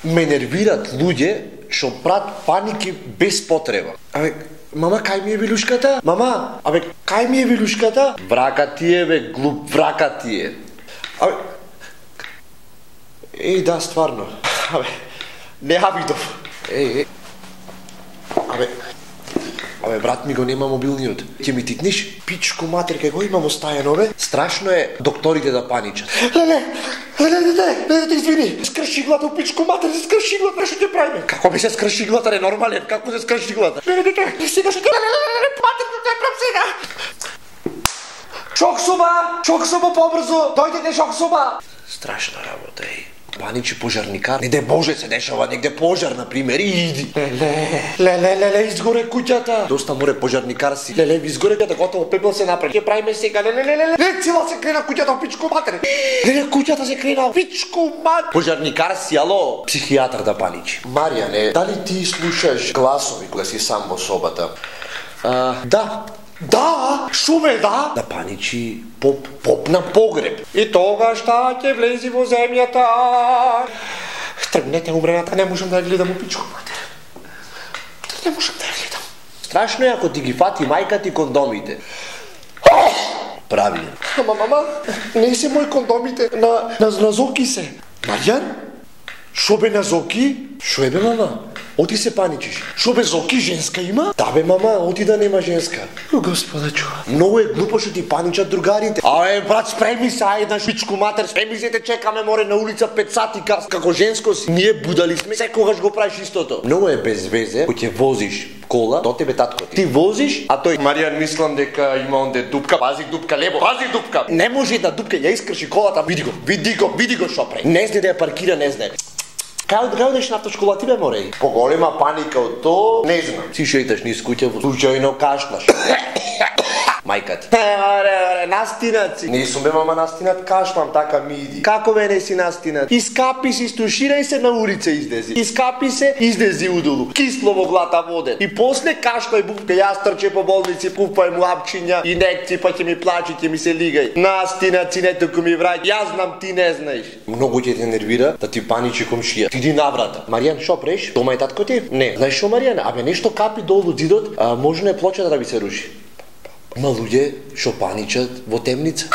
Ме нервират луѓе што прават паники без потреба. Мама, кај ми е вилушката? Мама, кај ми е вилушката? Врака ти е, глуп, врака ти е. Да, стварно. Не видов. Брат ми го нема мобилниот. Ќе ми тикниш? Пичко матер, кај го имам остајано, Страшно е докторите да паничат. Леле, извини. Скрши глата, пичко матер, скрши глата, нешто ќе правиме. Како би се скрши глата, ненормален, како се скрши глата? Сега што матер, те прав сега. Шок соба побрзо, дојдете шок соба. Страшна работа е. Паничи пожарникар. Не де Боже се дешава, негде пожар, например, и иди. Леле, изгоре куќата. Доста море пожарникар си. Леле, изгоре куќата, готово, пепел се направи. Ќе правиме сега, леле, цела се крена куќата, пичко матер. Леле, куќата се крена, пичко матер. Пожарникар си, ало, психијатар да паничи. Маријане, дали ти слушаш гласови кога си сам во собата? Да, шуме, да. Да паничи поп на погреб. И тогаш ќе влези во земјата. Тргнете умрената, не можам да ја гледам у пичко матер. Не можам да ја гледам. Страшно е ако ти ги фати мајка ти кондомите. Правилно. Мама, не се мои кондомите, на Зоки се. Маријан? Шо бе на Зоки? Шо е бе, мама? Оти се паничиш. Шо бе, Зоки женска има? Да бе, мама, оти да нема женска. Господа чува. Многу е глупо што ти паничат другарите. Брат, спреми се, ајде, пичко матер, спреми се, те чекаме море на улица 5 сати, како женско си. Ние будали сме, секогаш го правиш истото. Многу е без везе, кој ќе возиш кола, до тебе татко ти. Ти возиш, а тој Маријан, мислам дека има онде дупка, пази дупка, лебо, пази дупка. Не може да дупка, ја искрши колата, види го шо прави. Не знае да ја паркира, не знае. Кај одеш на автошкола ти бе, море? Поголема паника од то, не знам. Си шейташ низ куќа, случајно кашлаш. Мајка ти. Настинат си. Не сум бе, мама, настинат, кашлам, така ми иди. Како бе не си настинат? Искапи се, стуширај се, на улица издези. Искапи се, издези удолу. Кисло во глата воден. И после кашлај бувка, јас трче по болници, купај му апчиња, инекци, па ќе ми плачи, ќе ми се лигај. Настинат си, не туку ми враќ. Јас знам, ти не знаеш. Многу ќе те нервира да ти паничи комшија. Ти наврата. Маријан, шо преш? Дома е татко ти? Не. Знаеш шо, Маријан? Нешто капи долу зидот, може не плочата да ви се руши. Има луѓе што паничат во темница.